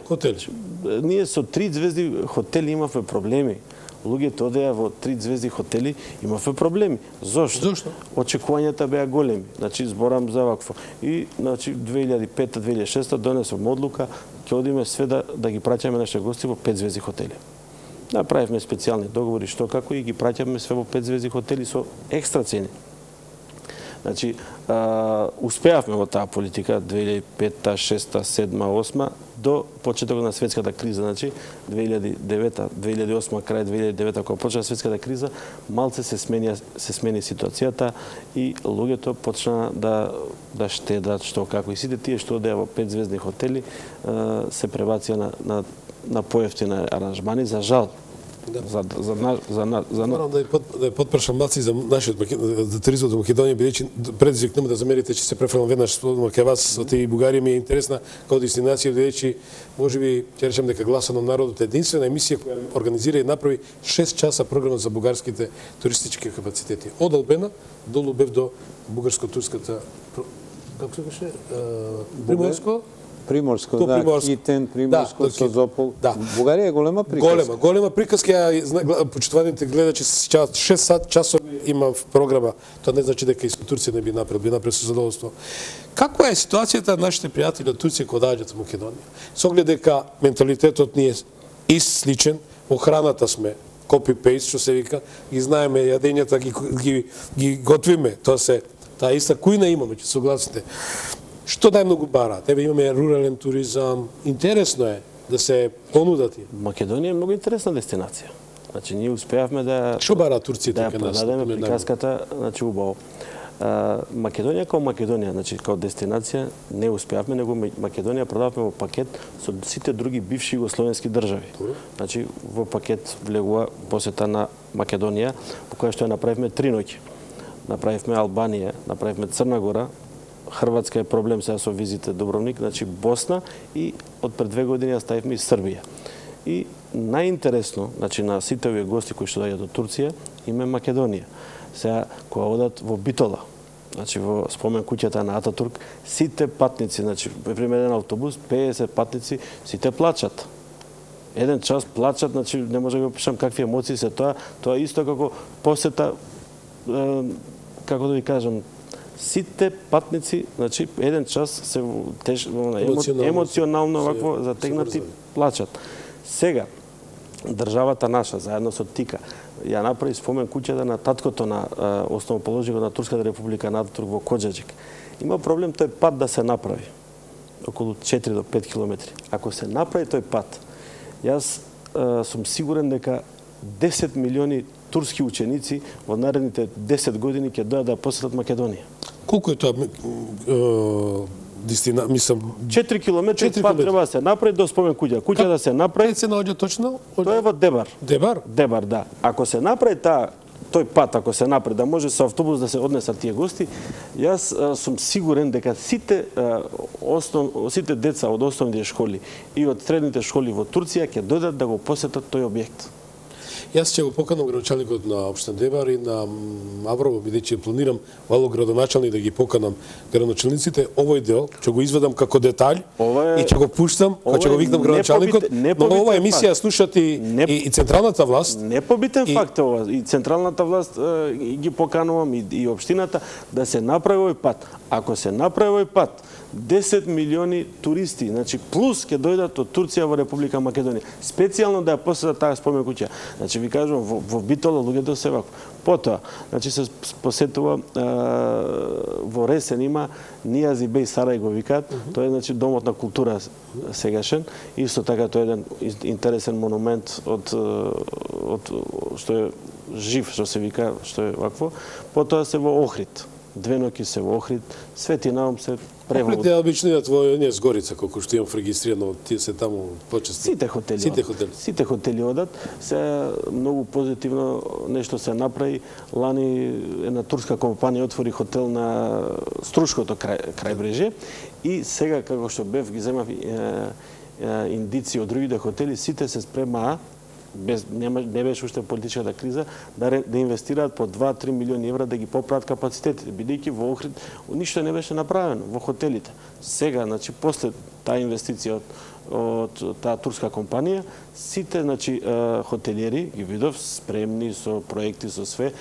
Ние со 3 звезди хотели имавме проблеми. Луѓето одеа во 3 звезди хотели, имавме проблеми. Зошто? Очекувањата беа големи. Значи, зборам за вакво. И, значи, 2005-2006 донесовме одлука, ќе одиме све да ги праќаме нашите гости во 5 звезди хотели. Направивме специјални договори што како и ги праќаме све во 5 звезди хотели со екстра цени. Значи, успеавме во таа политика 2005, 2006, 2007, 2008 до почетокот на светската криза, значи 2009, 2008, крај 2009 кога почна светската криза, малце се смени ситуацијата и луѓето почна да штедат што како и сите тие што одеа во 5-звездни хотели се пребација на поевтини аранжмани, за жал. Морам да ја потпрашам малци за нашиот за туризмот во Македонија, бидејќи предизвик нема да замерите че се префрлам веднаш кај вас со тие Бугарија ми е интересна како дестинација, бидејќи можеби ќе речем дека Гласот на народот е единствена емисија која организира и направи 6 часа програма за бугарските туристички капацитети. Од Албена долу бев до бугарско-турската како се беше Приморско, да, Китен, Приморско, Созопол. Да. Бугарија е голема приказка. Голема приказка, почитуваните гледачи, 6 часови има в програма. Тоа не значи дека и со Турција не би направил со задоволство. Каква е ситуацијата на нашите пријатели од Турција кога доаѓаат во Македонија? Со оглед дека менталитетот ни е сличен, во храната сме копи-пейст, што се вика, ги знаеме јадењата, ги готвиме, таа иста кујна имаме, ќе согласите. Што најмногу бараат? Еве имаме рурален туризам. Интересно е да се понудат. Македонија е многу интересна дестинација. Значи ние успеавме да Што бараат турците кај нас? Да продадеме приказката, значи убаво. Македонија како Македонија, значи како дестинација не успеавме, него Македонија продавме во пакет со сите други бивши југословенски држави. Значи во пакет влегува посета на Македонија, по која што ја направивме 3 ноќи. Направивме Албанија, направивме Црна Гора, Хрватска е проблем сега со визите Дубровник, значи Босна и од пред 2 години ја ставивме и Србија. И најинтересно, значи на сите овие гости кои што доаѓаат од Турција, им е Македонија. Сега кога одат во Битола, значи во спомен куќата на Ататурк, сите патници, значи пример еден автобус, 50 патници, сите плачат. Еден час плачат, значи не може да го опишам какви емоции се тоа. Тоа исто како посета, како да ви кажам, сите патници, значи еден час се емоционално вакво затегнати плачат. Сега државата наша заедно со ТИКА ја направи спомен куќата на таткото на основоположникот на Турската република на Ататурк во Коџаџик. Има проблем тој пат да се направи околу 4 до 5 километри. Ако се направи тој пат, јас сум сигурен дека 10 милиони турски ученици во наредните 10 години ќе дојдат да посетат Македонија. Колку е тоа дестина, мислам 4 километри пат треба да се направи до спомен куќа. Куќа да се направи. Се наоѓа точно? Тоа е во Дебар. Дебар? Дебар, да. Ако се направи тој пат, ако се направи да може со автобус да се однесат тие гости, јас сум сигурен дека сите деца од основните школи и од средните школи во Турција ќе дојдат да го посетат тој објект. Јас ќе го поканам градоначалникот на општина Дебар и на Аврово, бидејќи планирам вало градоначалник да ги поканам градоначалниците. Овој дел ќе го извадам како детаљ и ќе го пуштам, ќе го викнам градоначалникот. Но ова емисија слушат и централната власт. Непобитен факт е ова. И централната власт ги поканувам и општината да се направи овој пат. Ако се направи овој пат, 10 милиони туристи, значи плюс ќе дојдат од Турција во Република Македонија, специјално да ја посетат таа спомен куќа. Значи ви кажувам во Битола луѓето се вако. Потоа, значи се посетува во Ресен има Нијази беј Сарај го викаат, тоа е значи домот на култура сегашен, исто така тоа е еден интересен монумент од што е жив, што се вика, што е вакво. Потоа се во Охрид. 2 ноќи се во Охрид, Свети Наум се превод. Охрид е обично идат во оние Згорица, колку што имам регистрирано, тие се таму почести. Сите хотели одат. Се многу позитивно нешто се направи. Лани една турска компанија отвори хотел на Струшкото крајбрежје и сега како што бев ги земав индици од другите хотели, сите се спремаа не беше уште политичката криза, да инвестираат по 2-3 милиони евра да ги поправат капацитетите, бидејќи во Охрид ништо не беше направено во хотелите. Сега, значи, после таа инвестиција од од таа турска компанија, сите хотелиери ги видов спремни со проекти со све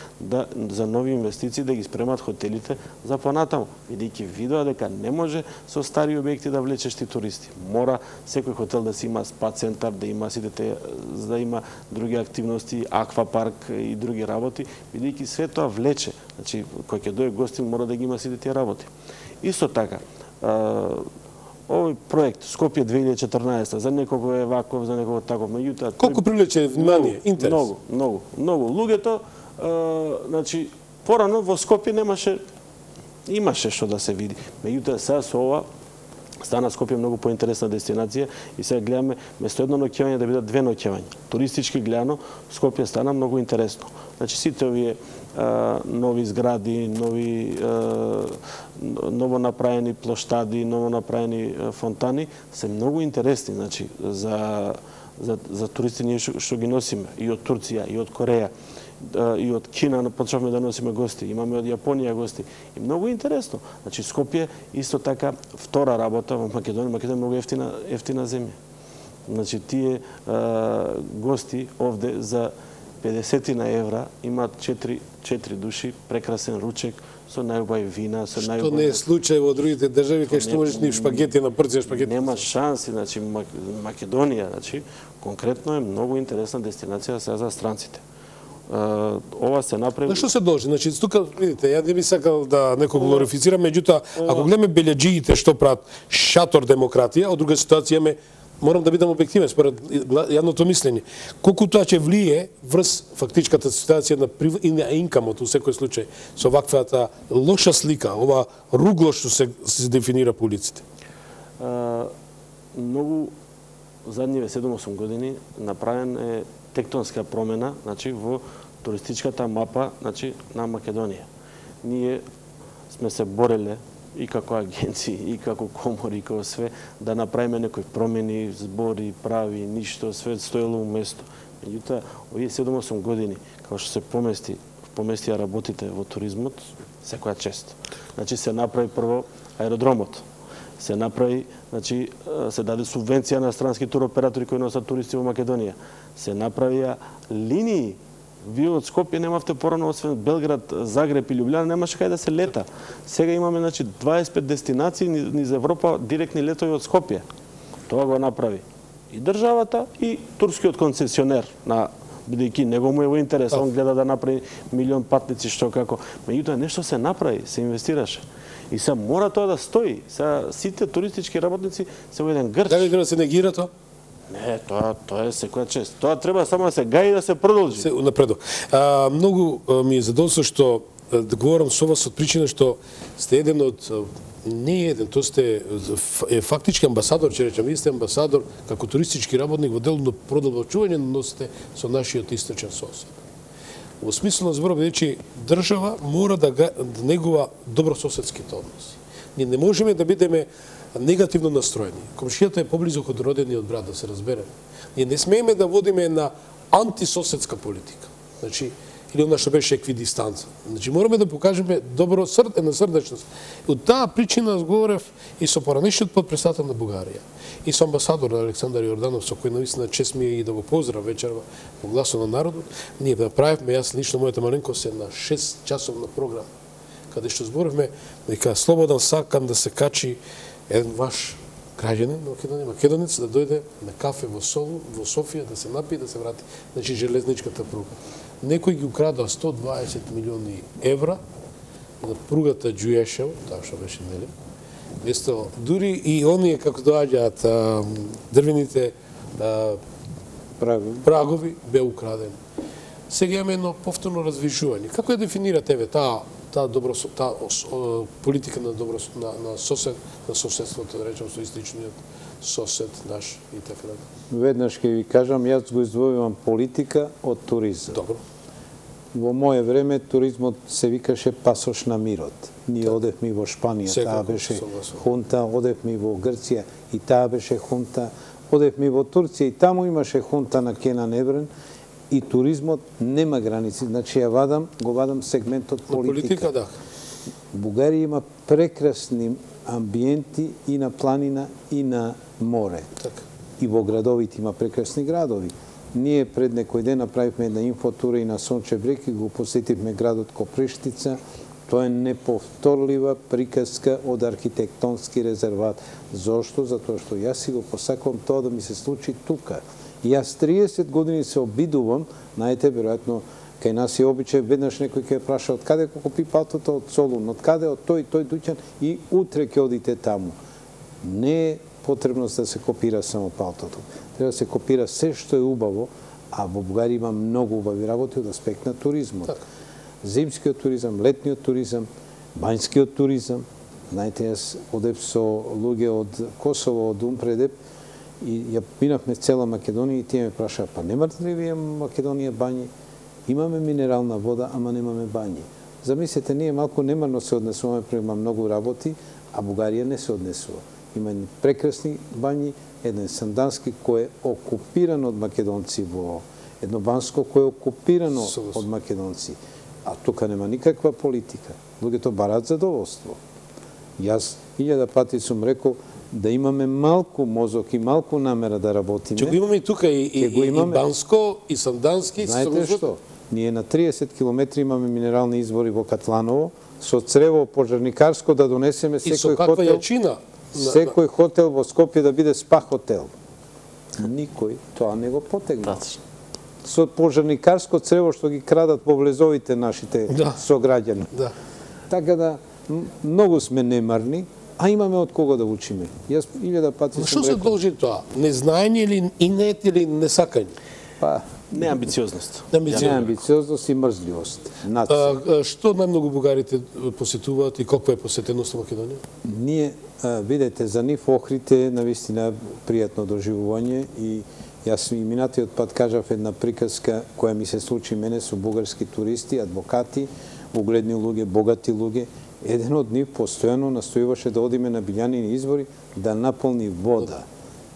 за нови инвестиции да ги спремат хотелите за понатаму, бидејќи видоа дека не може со стари објекти да влечеш ти туристи. Мора секој хотел да си има спа центар, да има да има други активности, аквапарк и други работи, бидејќи све тоа влече. Значи, кој ќе дое гостин мора да ги има сите тие работи. Исто така, овој проект Скопје 2014 за некого е ваков, за некого таков, меѓутоа колку привлече внимание, интерес? Многу. Луѓето, значи, порано во Скопје имаше што да се види. Меѓутоа сега со ова стана Скопје многу поинтересна дестинација и сега гледаме место едно ноќевање да бидат две ноќевања. Туристички гледано Скопје стана многу интересно. Значи сите овие нови згради, ново направени плоштади, ново направени фонтани се многу интересни, значи за туристи ние што ги носиме и од Турција, и од Кореја, и од Кина почнавме да носиме гости, имаме од Јапонија гости. И многу интересно. Значи Скопје исто така втора работа во Македонија. Македонија е многу ефтина земја. Значи тие гости овде за 50 евра имаат 4 души, прекрасен ручек со најубави вина, со најубави. Што не е случај во другите држави кај што можеш ни шпагети на порција шпагети. Нема шанси, значи Македонија, значи конкретно е многу интересна дестинација сега за странците. Ова се направи. На што се должи? Значи тука видите, ја не би сакал да некој глорифицирам, меѓутоа ако гледаме белјаџиите што прават шатор демократија, од друга ситуација морам да бидам објективен според јавното мислење. Колку тоа ќе влие врз фактичката ситуација и на инкамот во секој случај со ваквата лоша слика, ова ругло што се дефинира по улиците? Многу задниве 7-8 години направен е тектонска промена, значи во туристичката мапа, значи на Македонија. Ние сме се бореле и како агенции, и како комори, и како све, да направиме некои промени, збори, прави, ништо, све стоело у место. Меѓутоа, овие 7-8 години, како што се поместија работите во туризмот, секоја чест. Значи се направи прво аеродромот. Се направи, значи се даде субвенција на странски туроператори кои носат туристи во Македонија. Се направија линии. Вие од Скопје немавте порано, освен Белград, Загреб и Љубљана, немаше кај да се лета. Сега имаме 25 дестинации низ Европа, директни летови од Скопје. Тоа го направи и државата, и турскиот концесионер, бидејќи него му е во интерес, он гледа да направи милион патници што како. Меѓутоа нешто се направи, се инвестираше. И сега мора тоа да стои. Сега сите туристички работници се во еден грч. Дали да се негира тоа? Не, тоа е секоја чест. Тоа треба само да се гаи и да се продолжи. Се напредо. Многу ми е задоволство што да говорам со вас од причина што сте еден од тоа сте фактички амбасадор, ќе речам, вие сте амбасадор како туристички работник во дело на продолжување на односите со нашиот источен сосед. Во смисло на зборот бидејќи држава мора да негува добрососедските односи. Ние не можеме да бидеме негативно настроени. Комшијата е поблизо од родениот брат, да се разбереме. Ние не смееме да водиме една антисоседска политика. Значи, или она што беше еквидистанца. Значи, мораме да покажеме една срдечност. Од таа причина разговарав и со поранешниот подпредседател на Бугарија, и со амбасадор Александар Јорданов, со кој навистина чест ми е и да го поздрав вечерва во Гласот на народот. Ние направивме, јас лично мојата маленкост е на 6-часовна програма, каде што зборивме дека слободен сакам да се качи еден ваш граѓанин македонец да дојде на кафе во Софија, да се напие и да се врати. Значи железничката пруга. Некој ги украда 120 милиони евра на пругата Ѓујешево, таа што беше, нели? Место дури и оние како доаѓаат дрвените прагови бе украдени. Сега имаме едно повторно развижување. Како ја дефинирате таа политика на соседството, да речем, со истичниот сосед наш и така натаму? Веднаш ќе ви кажам, јас го издвојувам политика од туризам. Добро. Во моје време туризмот се викаше пасош на мирот. Ние одевме во Шпанија, таа беше хунта, одевме во Грција и таа беше хунта, одевме во Турција и таму имаше хунта на Кенан Ебрен. И туризмот нема граници. Значи го вадам сегментот политика. Да. Бугарија има прекрасни амбиенти и на планина и на море. Така. И во градовите има прекрасни градови. Ние пред некој ден направивме една инфотура и на Сончев брег и го посетивме градот Коприштица. Тоа е неповторлива приказка од архитектонски резерват. Зошто? Затоа што јас си го посакувам тоа да ми се случи тука. И јас 30 години се обидувам, знаете, веројатно, кај нас е обичај, веднаш некој ќе праша од каде го купи патото, од Солун, од каде, од тој дуќан и утре ќе одите таму. Не е потребност да се копира само палтото. Треба да се копира се што е убаво, а во Бугарија има многу убави работи од аспект на туризмот. Зимскиот туризам, летниот туризам, бањскиот туризам. Знаете, јас одев со луѓе од Косово, од Умпредеп, и ја минавме цела Македонија и тие ме прашаа, па немате ли вие Македонија бањи? Имаме минерална вода, ама немаме бањи. Замислете, ние малку немарно се однесуваме према многу работи, а Бугарија не се однесува. Има прекрасни бањи, еден Сандански кој е окупиран од македонци, во едно Банско кој е окупирано од македонци. А тука нема никаква политика. Луѓето бараат задоволство. Јас 1000 пати сум рекол да имаме малку мозок и малку намера да работиме. Че го имаме и тука и Банско, и Сандански. Знаете што? Ние на 30 километри имаме минерални извори во Катланово, со црево пожарникарско да донесеме секој хотел. Јачина? Секој хотел во Скопје да биде спа хотел. Никој тоа не го потегна. Со пожарникарско црево што ги крадат во влезовите нашите сограѓани. Така да, многу сме немарни, а имаме од кого да учиме. Јас 1000 пати сум рекол. Што се должи тоа? Незнаење или инет или несакање? Па, неамбициозност. Неамбициозност и мрзливост. Што најмногу бугарите посетуваат и колку е посетеност во Македонија? Ние, видете, за нив Охрид навистина пријатно доживување и јас и минатиот пат кажав една приказка која ми се случи мене со бугарски туристи, адвокати, угледни луѓе, богати луѓе. Еден од нив постојано настојуваше да одиме на Билјанини извори да наполни вода.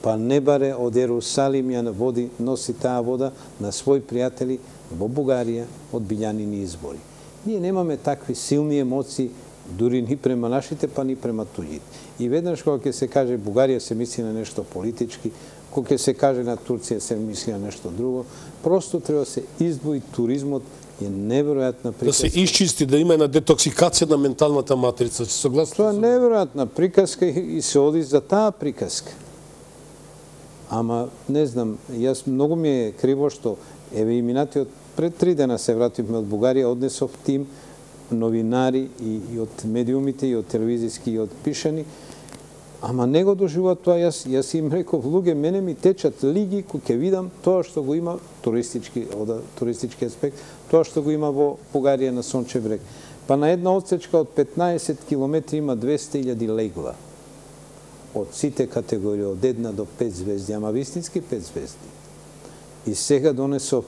Па не баре од Ерусалим ја води, носи таа вода на своји пријатели во Бугарија од Билјанини извори. Ние немаме такви силни емоции, дури ни према нашите, па ни према туѓите. И веднаш кога ќе се каже Бугарија се мисли на нешто политички, кога ќе се каже на Турција се мисли на нешто друго, просто треба да се издвои туризмот, е неверојатна приказка. Да се исчисти, да има една детоксикација на менталната матрица. Тоа е неверојатна приказка и се оди за таа приказка. Ама, не знам, јас многу ми е криво што, еве и минатиот пред 3 дена се вративме од Бугарија, однесов тим новинари и од медиумите, и од телевизиски, и од пишани, ама не го доживуваат тоа. Јас им реков, луѓе, мене ми течат лиги кој ќе видам тоа што го има туристички аспект, тоа што го има во Бугарија на Сончев брег. Па на една одсечка од 15 километри има 200.000 легла. Од сите категории, од 1 до 5 звезди, ама вистински 5 звезди. И сега донесов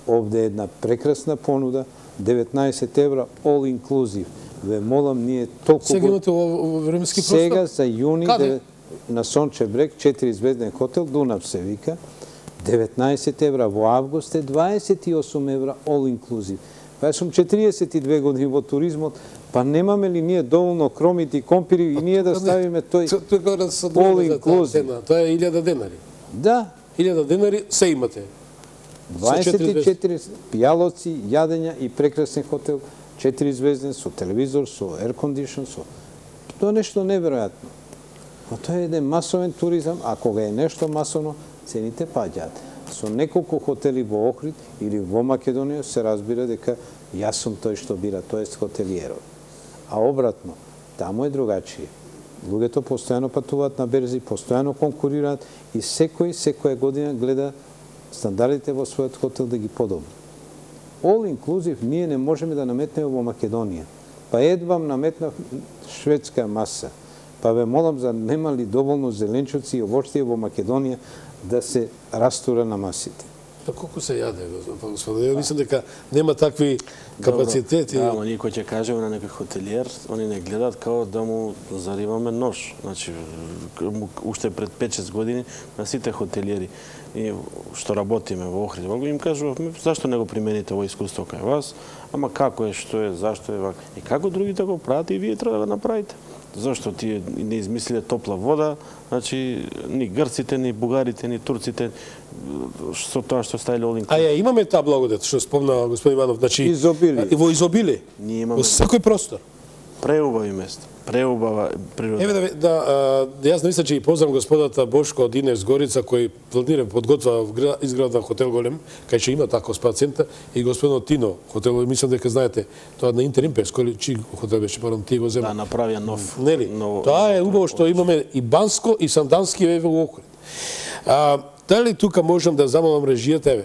овде една прекрасна понуда, 19 евра, all inclusive. Ве молам, ние толку... Сега имате во временски простор? Сега за јуни на Сончев брег, 4 звезден хотел, Дунав се вика, 19 евра, во август е 28 евра all inclusive. Па сум 42 години во туризмот, па немаме ли ние доволно кромити, компири и ние да ставиме тој all inclusive? Тоа е 1000 денари. Да. 1000 денари се имате. 24 пијалоци, јадења и прекрасен хотел, 4 звезден, со телевизор, со air condition, Тоа е нешто неверојатно. Но тоа е еден масовен туризам, а кога е нешто масовно, цените паѓаат. Со неколку хотели во Охрид или во Македонија се разбира дека јас сум тој што бира, тоест хотелиерот. А обратно, таму е другачие. Луѓето постојано патуваат на берзи, постојано конкурираат и секоја година гледа стандардите во својот хотел да ги подобри. All inclusive ние не можеме да наметнеме во Македонија. Па едвам наметнав шведска маса. Па ве молам за нема ли доволно зеленчуци и овощија во Македонија да се растура на масите. Па колку се јаде, господи? Ја мислам дека нема такви капацитети. Да, ама никој ќе кажеме на некој хотелиер, они не гледаат као да му зариваме нож. Значи, уште пред 5-6 години на сите хотелиери. и што работиме во Охрид, им кажувавме зашто не го примените ово искуство кај вас, ама како е, што е, зашто е вака. И како другите го прават и вие треба да го направите. Зашто тие не измислиле топла вода, значи ни грците, ни бугарите, ни турците со тоа што ставиле Олинг. А ја имаме таа благодет што спомна господин Иванов, значи изобилие. Во изобилие. Ние имаме во секој простор. преубави места, преубава природа. Еве јас мислам че и познам господата Бошко од Инес Горица кој планира подготвува изграда хотел голем, кај што има таков спа центар, и господинот Тино хотел, мислам дека знаете, тоа на Интерим Песко или чи хотел беше, парам ти го зема. Да, направија нов. Нели? Тоа е убаво што имаме и Банско и Сандански еве во Охрид. Дали тука можам да замолам режијата, еве,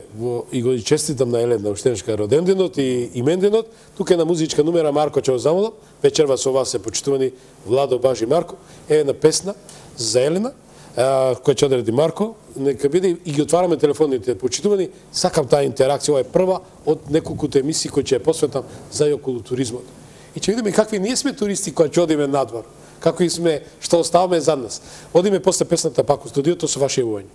и го честитам на Елена Уштенешка роденденот и именденот, тука е на музичка номера Марко ќе го замолам, вечерва со вас се почитувани Владо, Бажи, Марко, еве на песна за Елена, која ќе одреди Марко, нека биде и ги отвараме телефоните почитувани, сакам таа интеракција, ова е прва од неколкуто емисии кои ќе ја посветам за и околу туризмот. И ќе видиме какви ние сме туристи кои ќе одиме надвор, како и сме, што оставаме зад нас. Одиме после песната пак у студиото со ваше јавување.